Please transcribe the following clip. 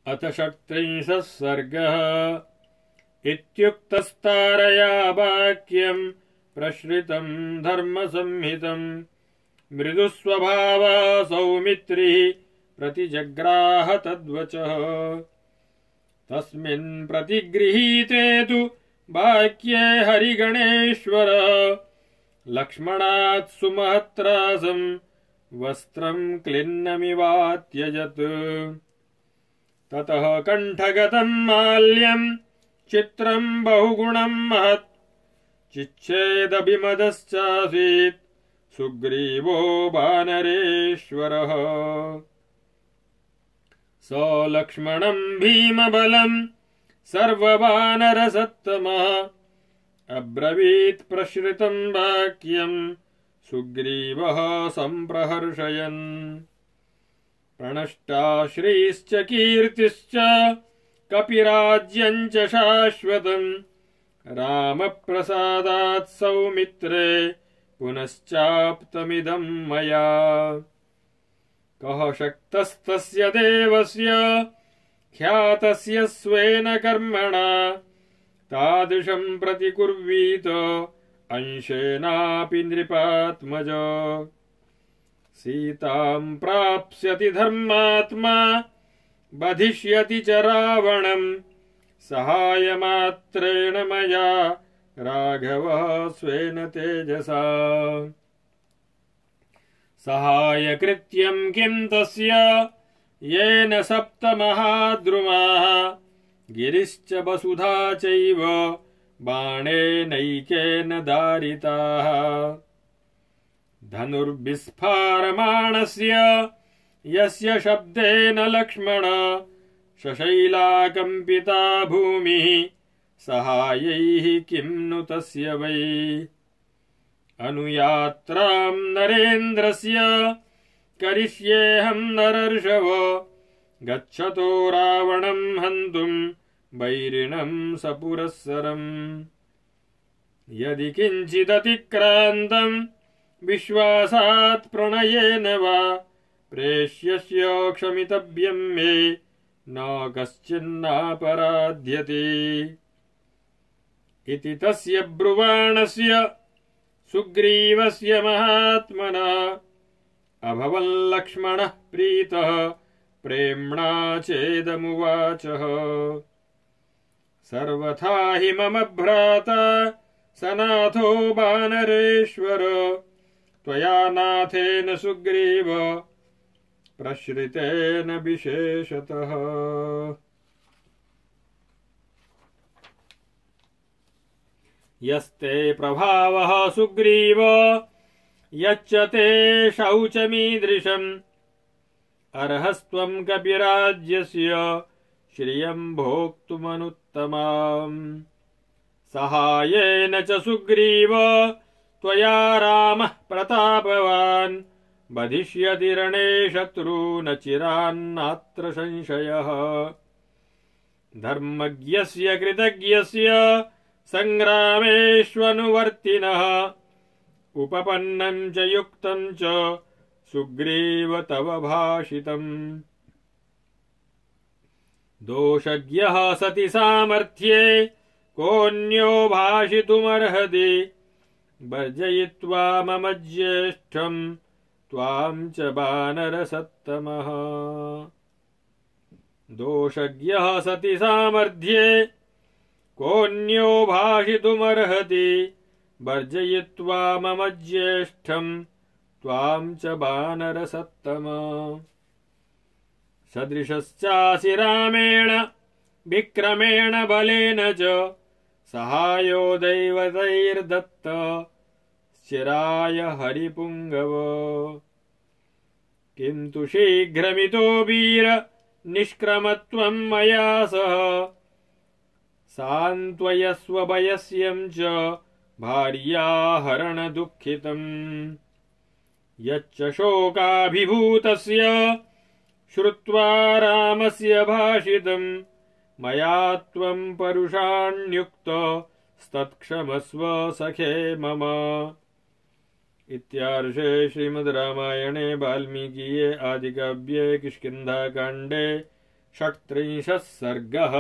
अथ 36 सर्गः। इत्युक्तस्तारया वाक्यम् प्रश्रितम् धर्मसंहितम् मृदुस्वभावः सौमित्रिः प्रतिजग्राह तद्वचः। तस्मिन् प्रतिगृहीते तु वाक्ये हरिगणेश्वर लक्ष्मणात् सुमहत्रासं वस्त्रं क्लिन्नमिवात्यजत्। ततः कण्ठगतं माल्यं चित्रं बहुगुणं महत् चिच्छेदभिमदश्चासीत् सुग्रीवो वानरेश्वरः। स लक्ष्मणं भीमबलं सर्ववानरसत्तमः अब्रवीत् प्रश्रितं वाक्यं सुग्रीवः सम्प्रहर्षयन्। प्रणष्टा श्रीश्च कीर्तिश्च कपिराज्यं च शाश्वतम् रामप्रसादात् सौमित्रे पुनश्चाप्तमिदं मया। कः शक्तस्तस्य देवस्य ख्यातस्य स्वेन कर्मणा तादृशं प्रतिकुर्वीत अंशेनापि नृपात्मज। सीतां प्राप्स्यति धर्मात्मा बधिष्यति च रावणं सहायमात्रेण मया राघवः स्वेन तेजसा। सहायकृत्यं किं तस्य येन सप्तमहाद्रुमाः गिरिश्च वसुधा चैव बाणेनैकेन दारिताः। धनुर्विस्फारमाणस्य यस्य शब्देन लक्ष्मण शशैलाकम्पिता भूमिः सहायैः किं नु तस्य वै। अनुयात्रां नरेन्द्रस्य करिष्येऽहं नरर्षव गच्छतो रावणं हन्तुं वैरिणं सपुरःसरम्। यदि किञ्चिदतिक्रान्तं विश्वासात् प्रणयेन वा प्रेष्यस्य क्षमितव्यं मे न कश्चिन्नापराध्यते। इति तस्य ब्रुवाणस्य सुग्रीवस्य महात्मना अभवल्लक्ष्मणः प्रीतः प्रेम्णा चेदमुवाचः। सर्वथा हि मम भ्राता सनाथो वानरेश्वर त्वया नाथेन सुग्रीव प्रश्रितेन विशेषतः। यस्ते प्रभावः सुग्रीव यच्च ते शौचमीदृशम् अर्हस्त्वं कपिराज्यस्य श्रियं भोक्तुमनुत्तमाम्। सहायेन च सुग्रीव त्वया रामः प्रतापवान् बधिष्यति रणे शत्रून् चिरान्नात्र संशयः। धर्मज्ञस्य कृतज्ञस्य सङ्ग्रामेष्वनुवर्तिनः उपपन्नं च युक्तं च सुग्रीव तव भाषितम्। दोषज्ञः सति सामर्थ्ये कोऽन्यो भाषितुमर्हति वर्जयित्वा मम ज्येष्ठं त्वां च वानरसत्तमः। दोषज्ञः सति सामर्थ्ये कोऽन्यो भाषितुमर्हति वर्जयित्वा मम ज्येष्ठं त्वां च वानरसत्तमः। सदृशश्चासि रामेण विक्रमेण बलेन च सहायो दैवतैर्दत्त चिराय हरिपुङ्गव। किन्तु शीघ्रमितो वीर निष्क्रमत्वं मया सह सान्त्वयस्व वयस्यं च भार्याहरणदुःखितम्। यच्च शोकाभिभूतस्य श्रुत्वा रामस्य भाषितम् मया त्वं परुषाण्युक्त स्तत्क्षमस्व सखे मम। इत्यार्षे श्रीमद् रामायणे वाल्मीकिये आदिकाव्ये किष्किन्धाकाण्डे षट्त्रिंशः सर्गः।